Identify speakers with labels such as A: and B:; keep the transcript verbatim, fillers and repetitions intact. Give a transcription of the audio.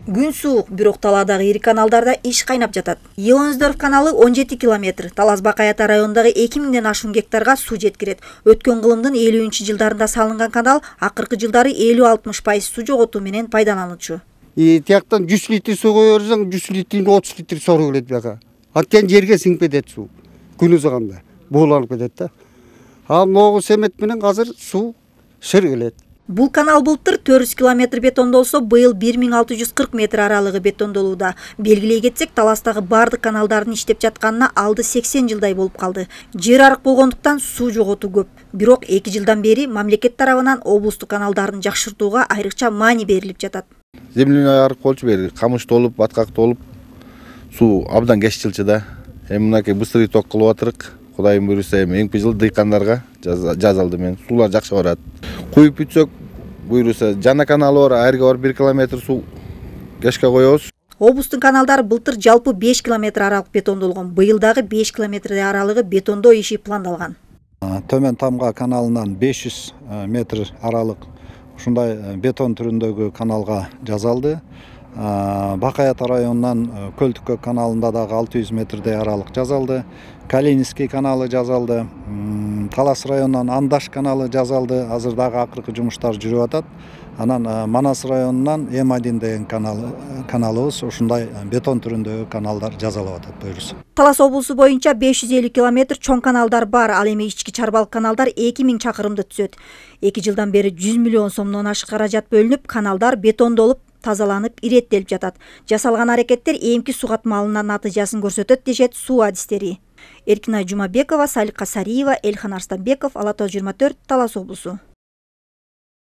A: Күн суук, бирок талаадагы ири каналдарда иш кайнап жатат. Елонсдорф каналы он жети километр, Талас Бакаята районундагы эки миңден ашуун гектарга суу жеткирет. Өткөн кылымдын элүүнчү жылдарында салынган канал акыркы жылдары элүү алтымыш пайыз суу жоготуу менен пайдаланылчу.
B: И тияктан жүз литр суу кое берсең, жүз литрин отуз литр сору келет бияка. Антен жерге сиңип кетет суу. Күн ызганда бууланып кетет да. Ал могу семет менен азыр суу шыр келет.
A: Бул канал былтыр төрт жүз километр бетондолсо, быйыл бир миң алты жүз кырк метр аралыгы бетондолууда. Белгилей кетсек, Таластагы бардык каналдардын иштеп жатканына алды сексен жылдай болуп калды. Жер арык болгондуктан суу жоготуу көп. Бирок эки жылдан бери мамлекет тарабынан облустук каналдарын жакшыртууга айрыкча маани берилип жатат.
C: Земляной арык болчу, бери камыш толуп, баткак толуп, суу абдан кеч жылчу да. Эми мынакей быстрый ток кылып атырык. Кудайым буйруса, эми эңки жыл дыйкандарга жазалды мен. Суулар жакшы барат. Куюп бүтсөк, буйруса жана каналы бар, айырга бар бир километр суу кешке коебуз.
A: Облустун каналдары былтыр жалпы беш километр аралык бетондолгон. Быйыл дагы беш километр аралыгы бетондоо иши пландалган.
D: Төмөн Тамга каналынан беш жүз метр аралык ушундай бетон түрүндөгү каналга жасалды. Бакаята районунан Көлтүккө каналында дагы алты жүз метрдей аралык жасалды. Калининский каналы жасалды. Талас районунан Андаш каналы жасалды. Азыр дагы акыркы жумуштар жүрүп атат. Анан Манас районунан эм один деген каналы каналыбыз ушундай бетон түрүндөгү каналдар жасалып атат буюрса.
A: Талас облусу боюнча беш жүз элүү километр чоң каналдар бар. Ал эми ички чарбалык каналдар эки миң чакырымды түзөт. эки жылдан бери жүз миллион сомдон ашык каражат бөлүнүп, каналдар бетондолуп, тазаланып, иреттелип жатат. Жасалган аракеттер эмки суу катмалынын натыйжасын көрсөтөт дешет суу адистери. Эркинай Жумабекова, Салика Сариева, Элхан Арстанбеков, Ала тоо жыйырма төрт, Талас облусу.